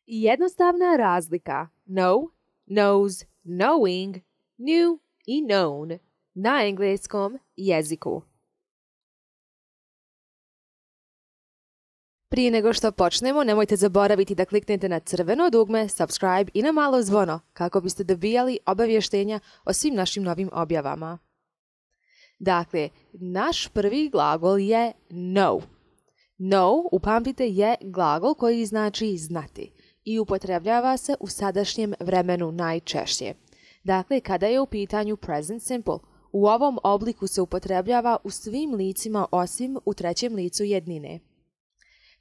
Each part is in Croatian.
Jednostavna razlika know, knows, knowing, knew i known na engleskom jeziku. Prije nego što počnemo, nemojte zaboraviti da kliknete na crveno dugme subscribe i na malo zvono kako biste dobijali obavještenja o svim našim novim objavama. Dakle, naš prvi glagol je know. Know, upamtite, je glagol koji znači znati i upotrebljava se u sadašnjem vremenu najčešće. Dakle, kada je u pitanju present simple, u ovom obliku se upotrebljava u svim licima osim u trećem licu jednine.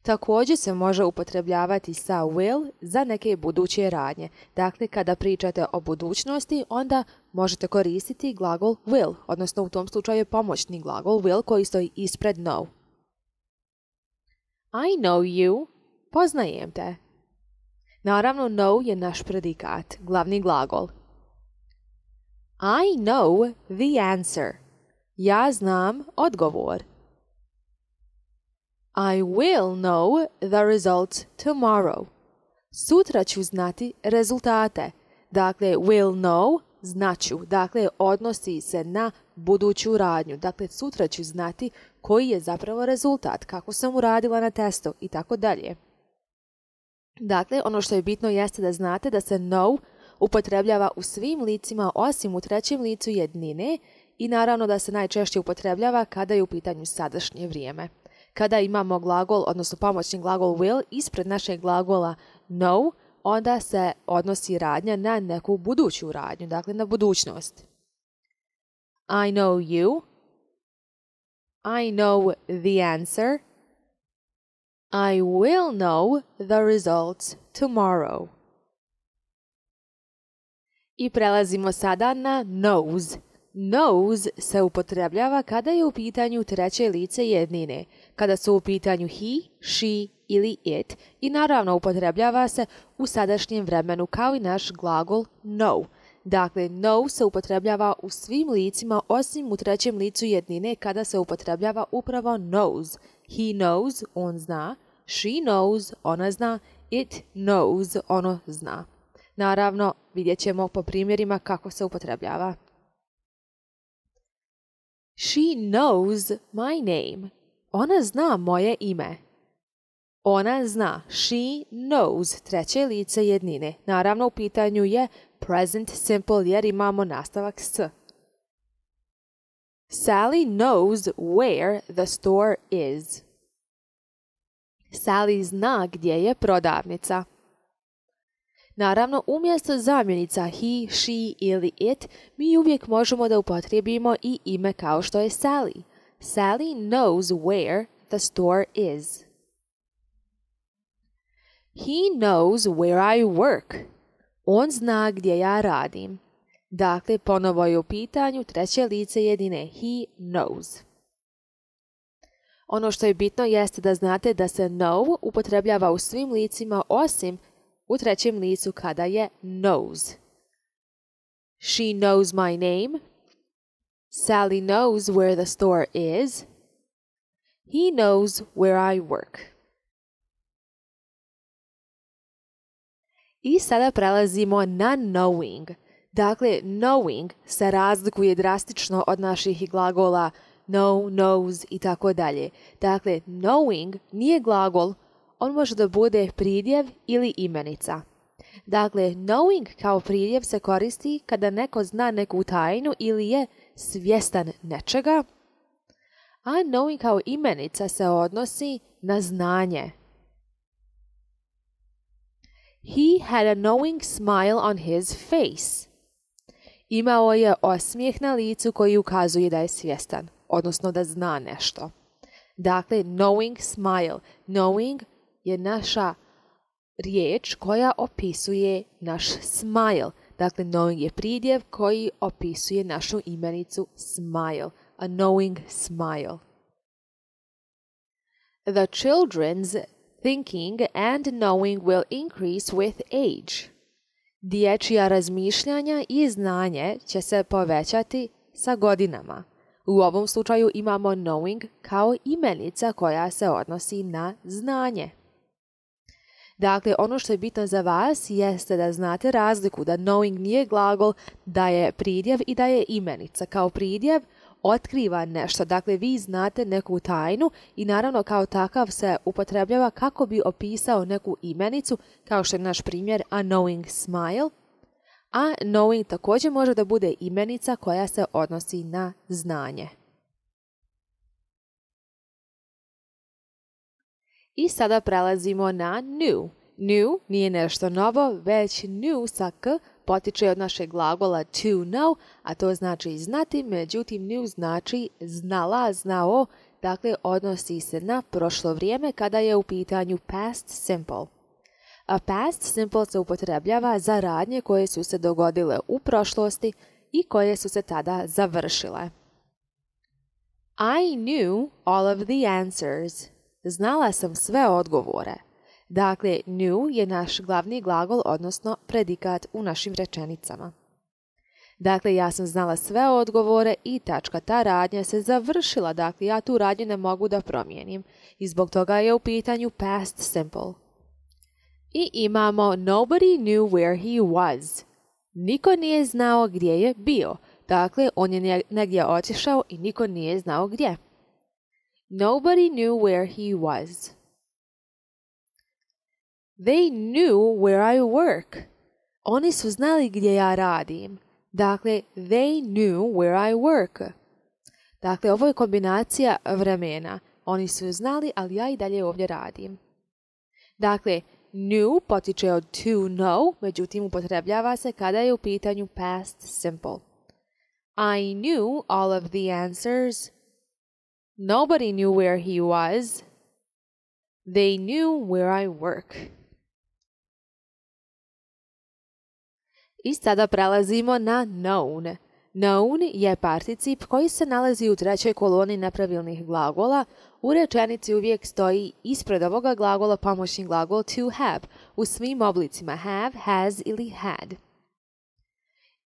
Također se može upotrebljavati sa will za neke buduće radnje. Dakle, kada pričate o budućnosti, onda možete koristiti glagol will, odnosno u tom slučaju je pomoćni glagol will koji stoji ispred know. I know you, poznajem te. Naravno, know je naš predikat, glavni glagol. I know the answer. Ja znam odgovor. I will know the results tomorrow. Sutra ću znati rezultate. Dakle, will know, znaću. Dakle, odnosi se na buduću radnju. Dakle, sutra ću znati koji je zapravo rezultat, kako sam uradila na testu i tako dalje. Dakle, ono što je bitno jeste da znate da se know upotrebljava u svim licima osim u trećem licu jednine i naravno da se najčešće upotrebljava kada je u pitanju sadašnje vrijeme. Kada imamo glagol, odnosno pomoćni glagol will ispred našeg glagola know, onda se odnosi radnja na neku buduću radnju, dakle na budućnost. I know you. I know the answer. I will know the results tomorrow. I prelazimo sada na knows. Knows se upotrebljava kada je u pitanju treće lice jednine, kada su u pitanju he, she ili it i naravno upotrebljava se u sadašnjem vremenu kao i naš glagol know. Dakle, know se upotrebljava u svim licima osim u trećem licu jednine kada se upotrebljava upravo knows. He knows, on zna, she knows, ona zna, it knows, ono zna. Naravno, vidjet ćemo po primjerima kako se upotrebljava. She knows my name. Ona zna moje ime. Ona zna. She knows treće lice jednine. Naravno u pitanju je present simple jer imamo nastavak s. Sally knows where the store is. Sally zna gdje je prodavnica. Naravno, umjesto zamjenica he, she ili it, mi uvijek možemo da upotrijebimo i ime kao što je Sally. Sally knows where the store is. He knows where I work. On zna gdje ja radim. Dakle, ponovo je u pitanju treće lice jedine. He knows. Ono što je bitno jeste da znate da se know upotrebljava u svim licima osim u trećem licu kada je knows. She knows my name. Sally knows where the store is. He knows where I work. I sada prelazimo na knowing. Dakle, knowing se razlikuje drastično od naših glagola know, knows i tako dalje. Dakle, knowing nije glagol, on može da bude pridjev ili imenica. Dakle, knowing kao pridjev se koristi kada neko zna neku tajnu ili je svjestan nečega, a knowing kao imenica se odnosi na znanje. He had a knowing smile on his face. Imao je osmijeh na licu koji ukazuje da je svjestan, odnosno da zna nešto. Dakle, knowing smile. Knowing je naša riječ koja opisuje naš smile. Dakle, knowing je pridjev koji opisuje našu imenicu smile. A knowing smile. The children's thinking and knowing will increase with age. Dječja razmišljanja i znanje će se povećati sa godinama. U ovom slučaju imamo knowing kao imenica koja se odnosi na znanje. Dakle, ono što je bitno za vas jeste da znate razliku da knowing nije glagol, da je pridjev i da je imenica. Kao pridjev otkriva nešto, dakle vi znate neku tajnu i naravno kao takav se upotrebljava kako bi opisao neku imenicu, kao što je naš primjer a knowing smile. A knowing također može da bude imenica koja se odnosi na znanje. I sada prelazimo na new. New nije nešto novo, već new sa k potiče od našeg glagola to know, a to znači znati, međutim new znači znala, znao, dakle odnosi se na prošlo vrijeme kada je u pitanju past simple. A past simple se upotrebljava za radnje koje su se dogodile u prošlosti i koje su se tada završile. I knew all of the answers. Znala sam sve odgovore. Dakle, knew je naš glavni glagol, odnosno predikat u našim rečenicama. Dakle, ja sam znala sve odgovore i tačka, ta radnja se završila. Dakle, ja tu radnju ne mogu da promijenim i zbog toga je u pitanju past simple. I imamo nobody knew where he was. Niko nije znao gdje je bio. Dakle, on je negdje otišao i niko nije znao gdje. Nobody knew where he was. They knew where I work. Oni su znali gdje ja radim. Dakle, they knew where I work. Dakle, ovo je kombinacija vremena. Oni su znali, ali ja i dalje ovdje radim. Dakle, knew potiče od to know, međutim upotrebljava se kada je u pitanju past simple. I knew all of the answers. Nobody knew where he was. They knew where I work. I sada prelazimo na known. Known je particip koji se nalazi u trećoj koloni nepravilnih glagola. U rečenici uvijek stoji ispred ovoga glagola pomoćni glagol to have u svim oblicima have, has ili had.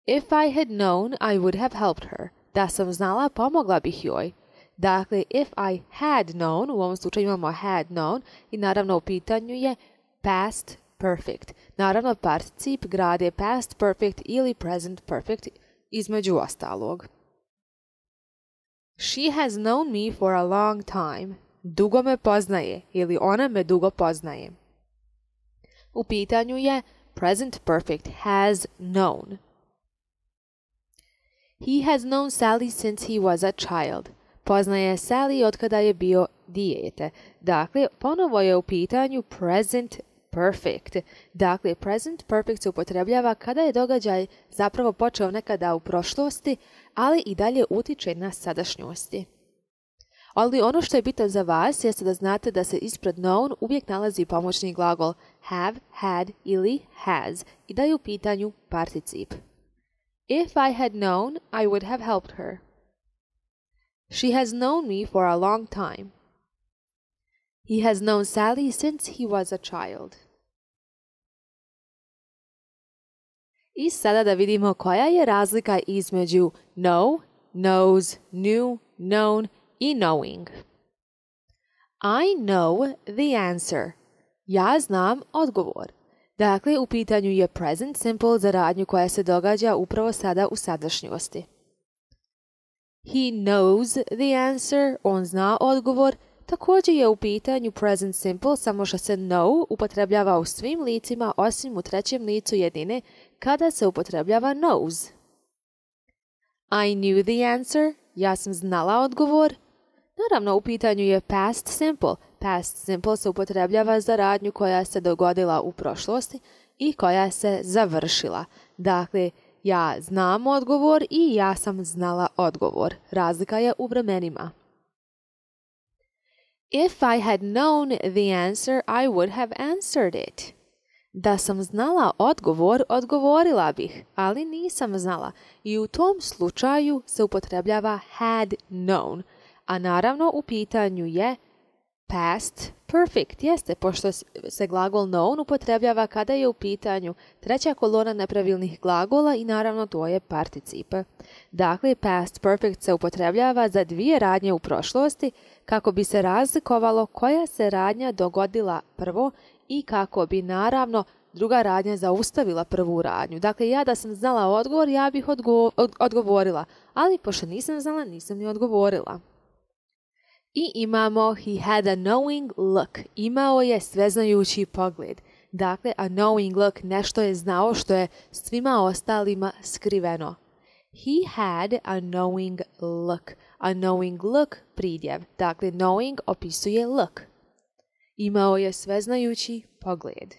If I had known, I would have helped her. Da sam znala, pomogla bih joj. Dakle, if I had known, u ovom slučaju imamo had known i naravno u pitanju je past perfect. Naravno, particip grade past perfect ili present perfect između ostalog. She has known me for a long time. Dugo me poznaje ili ona me dugo poznaje. U pitanju je present perfect has known. He has known Sally since he was a child. Poznaje Sally od kada je bio dijete. Dakle, ponovo je u pitanju present perfect. Dakle, present perfect se upotrebljava kada je događaj zapravo počeo nekada u prošlosti, ali i dalje utiče na sadašnjosti. Ali ono što je bitno za vas jeste da znate da se ispred known uvijek nalazi pomoćni glagol have, had ili has i da je u pitanju particip. If I had known, I would have helped her. She has known me for a long time. He has known Sally since he was a child. I sada da vidimo koja je razlika između know, knows, knew, known i knowing. I know the answer. Ja znam odgovor. Dakle, u pitanju je present simple za radnju koja se događa upravo sada u sadašnjosti. He knows the answer. On zna odgovor. Također je u pitanju present simple, samo što se know upotrebljava u svim licima osim u trećem licu jedine kada se upotrebljava knows. I knew the answer. Ja sam znala odgovor. Naravno, u pitanju je past simple. Past simple se upotrebljava za radnju koja se dogodila u prošlosti i koja se završila. Dakle, ja znam odgovor i ja sam znala odgovor. Razlika je u vremenima. If I had known the answer, I would have answered it. Da sam znala odgovor, odgovorila bih, ali nisam znala. I u tom slučaju se upotrebljava had known, a naravno u pitanju je Past perfect, jeste, pošto se glagol known upotrebljava kada je u pitanju treća kolona nepravilnih glagola i naravno to je participe. Dakle, past perfect se upotrebljava za dvije radnje u prošlosti kako bi se razlikovalo koja se radnja dogodila prvo i kako bi naravno druga radnja zaustavila prvu radnju. Dakle, ja da sam znala odgovor, ja bih odgovorila, ali pošto nisam znala, nisam ni odgovorila. I imamo he had a knowing look. Imao je sveznajući pogled. Dakle, a knowing look, nešto je znao što je svima ostalima skriveno. He had a knowing look. A knowing look, pridjev. Dakle, knowing opisuje look. Imao je sveznajući pogled.